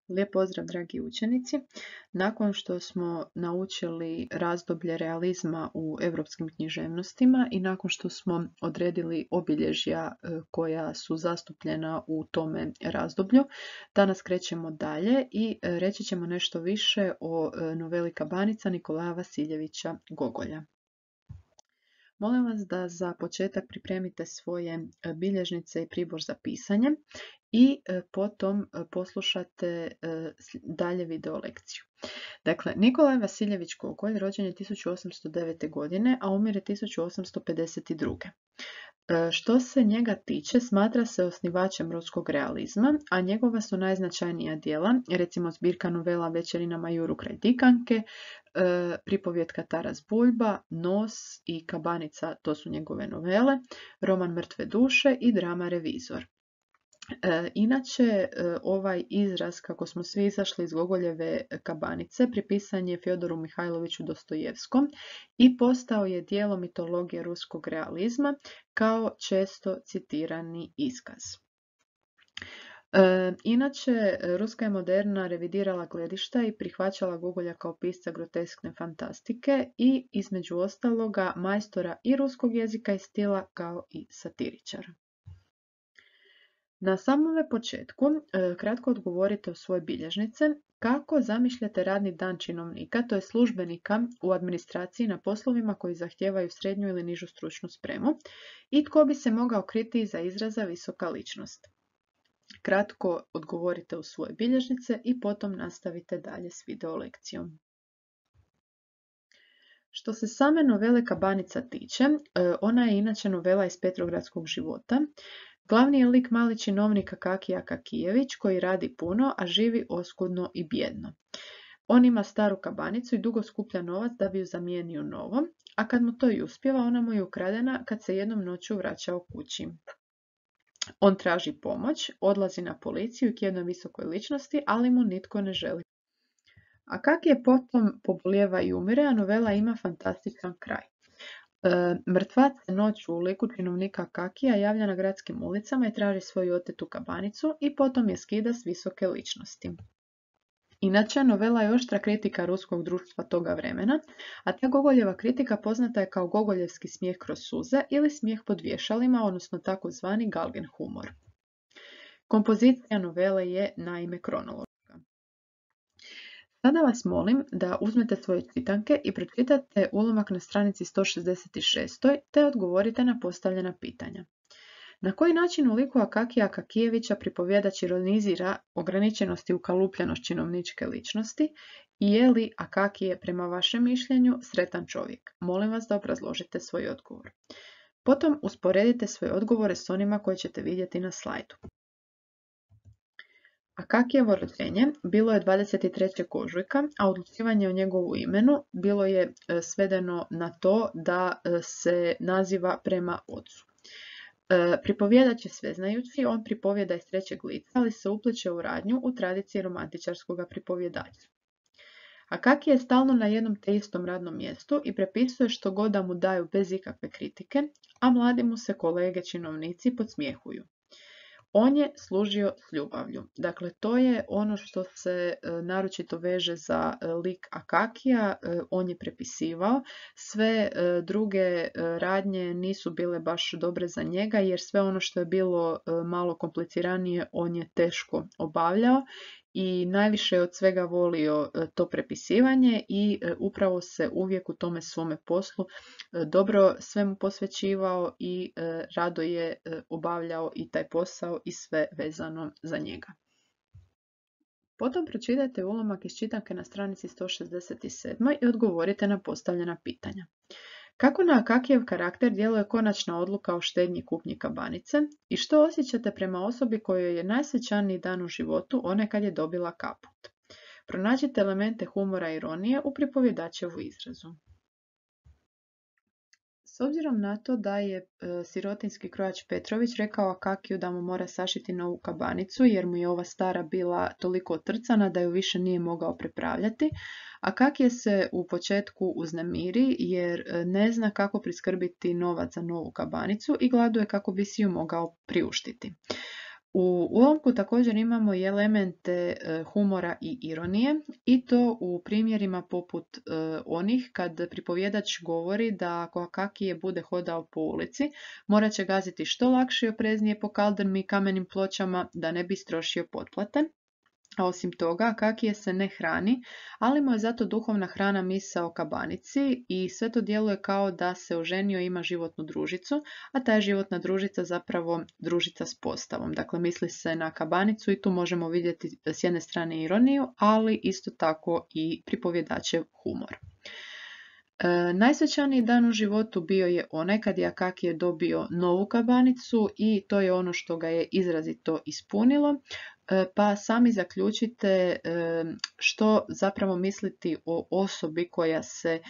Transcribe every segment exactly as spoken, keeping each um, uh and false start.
Lijep pozdrav, dragi učenici. Nakon što smo naučili razdoblje realizma u europskim književnostima i nakon što smo odredili obilježja koja su zastupljena u tome razdoblju, danas krećemo dalje i reći ćemo nešto više o noveli Kabanica Nikolaja Vasiljevića Gogolja. Molim vas da za početak pripremite svoje bilježnice i pribor za pisanje i potom poslušate dalje video lekciju. Dakle, Nikolaj Vasiljević Gogolj rođen je tisuću osamsto devete. godine, a umire tisuću osamsto pedeset druge. Što se njega tiče, smatra se osnivačem ruskog realizma, a njegova su najznačajnija djela, recimo zbirka novela Večerina Majuru kraj Dikanke, pripovjetka Taras Buljba, Nos i Kabanica, to su njegove novele, roman Mrtve duše i drama Revizor. E, inače, ovaj izraz, kako smo svi izašli iz Gogoljeve Kabanice, pripisan je Fjodoru Mihajloviću Dostojevskom i postao je dijelom mitologije ruskog realizma kao često citirani iskaz. E, inače, ruska je moderna revidirala gledišta i prihvaćala Gogolja kao pisca groteskne fantastike i, između ostaloga, majstora i ruskog jezika i stila kao i satiričara. Na samome početku kratko odgovorite u svoje bilježnice kako zamišljate radni dan činovnika, to je službenika u administraciji na poslovima koji zahtijevaju srednju ili nižu stručnu spremu i tko bi se mogao kriti iza izraza visoka ličnost. Kratko odgovorite u svoje bilježnice i potom nastavite dalje s video lekcijom. Što se same novele Kabanica tiče, ona je inače novela iz Petrogradskog života. Glavni je lik mali činovnik Akakij Akakijević koji radi puno, a živi oskudno i bjedno. On ima staru kabanicu i dugo skuplja novac da bi ju zamijenio novom, a kad mu to i uspijeva, ona mu je ukradena kad se jednom noću vraćao kući. On traži pomoć, odlazi na policiju k jednoj visokoj ličnosti, ali mu nitko ne želi. Akakij je potom pobolijeva i umire, a novela ima fantastičan kraj. Mrtvac se noću u liku činovnika Akakija javlja na gradskim ulicama i traži svoju otetu kabanicu i potom je skida s visoke ličnosti. Inače, novela je oštra kritika ruskog društva toga vremena, a ta Gogoljeva kritika poznata je kao gogoljevski smijeh kroz suze ili smijeh pod vješalima, odnosno takozvani Galgen humor. Kompozicija novele je naime kronološka. Sada vas molim da uzmete svoje čitanke i pročitate ulomak na stranici sto šezdeset šest. te odgovorite na postavljena pitanja. Na koji način u liku Akakija Akakijevića pripovjedač ironizira ograničenost i ukalupljenost činovničke ličnosti i je li Akakije prema vašem mišljenju sretan čovjek? Molim vas da obrazložite svoj odgovor. Potom usporedite svoje odgovore s onima koje ćete vidjeti na slajdu. Akakijevo rođenje bilo je dvadeset trećeg ožujka, a odlučivanje o njegovu imenu bilo je svedeno na to da se naziva prema ocu. Pripovjedač je sveznajući, on pripovjeda iz trećeg lica, ali se upliče u radnju u tradiciji romantičarskog pripovjedača. Akakij je stalno na jednom te istom radnom mjestu i prepisuje što god da mu daju bez ikakve kritike, a mladi mu se kolege činovnici podsmjehuju. On je služio s ljubavlju. Dakle, to je ono što se e, naročito veže za e, lik Akakija. E, on je prepisivao. Sve e, druge e, radnje nisu bile baš dobre za njega, jer sve ono što je bilo e, malo kompliciranije on je teško obavljao i najviše od svega volio e, to prepisivanje i e, upravo se uvijek u tome svome poslu e, dobro svemu posvećivao i e, rado je e, obavljao i taj posao i sve vezano za njega. Potom pročitajte ulomak iz čitanke na stranici sto šezdeset sedam. i odgovorite na postavljena pitanja. Kako na Akakijev karakter djeluje konačna odluka o štednji kupnji kabanice i što osjećate prema osobi kojoj je najsvećaniji dan u životu onaj kad je dobila kaput? Pronađite elemente humora i ironije u pripovjedačevu izrazu. S obzirom na to da je e, sirotinski krojač Petrović rekao Akakiju da mu mora sašiti novu kabanicu jer mu je ova stara bila toliko otrcana da ju više nije mogao prepravljati, Akakije se u početku uznemiri jer ne zna kako priskrbiti novac za novu kabanicu i gladuje kako bi si ju mogao priuštiti. U ulomku također imamo i elemente humora i ironije i to u primjerima poput onih kad pripovjedač govori da ako Akakije bude hodao po ulici, morat će gaziti što lakše i opreznije po kaldrmi i kamenim pločama da ne bi istrošio potplate. A osim toga, Akakije se ne hrani, ali mu je zato duhovna hrana misa o kabanici i sve to djeluje kao da se oženio i ima životnu družicu, a ta je životna družica zapravo družica s postavom. Dakle, misli se na kabanicu i tu možemo vidjeti s jedne strane ironiju, ali isto tako i pripovjedačev humor. E, najsvećaniji dan u životu bio je onaj kad je Akakije dobio novu kabanicu i to je ono što ga je izrazito ispunilo. Pa sami zaključite što zapravo misliti o osobi koja se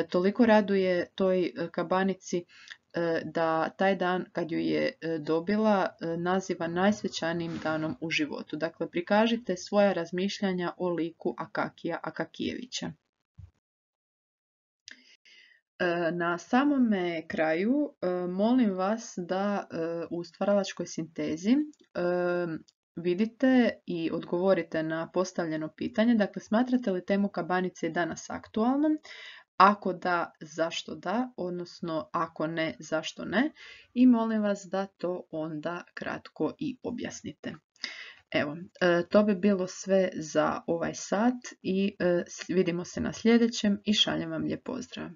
toliko raduje toj kabanici da taj dan kad ju je dobila naziva najsvećanijim danom u životu. Dakle, prikažite svoja razmišljanja o liku Akakija Akakijevića. Na samome kraju molim vas da u stvaralačkoj sintezi vidite i odgovorite na postavljeno pitanje. Dakle, smatrate li temu kabanice danas aktualnom? Ako da, zašto da? Odnosno, ako ne, zašto ne? I molim vas da to onda kratko i objasnite. Evo, to bi bilo sve za ovaj sat i vidimo se na sljedećem i šaljem vam lijep pozdrav.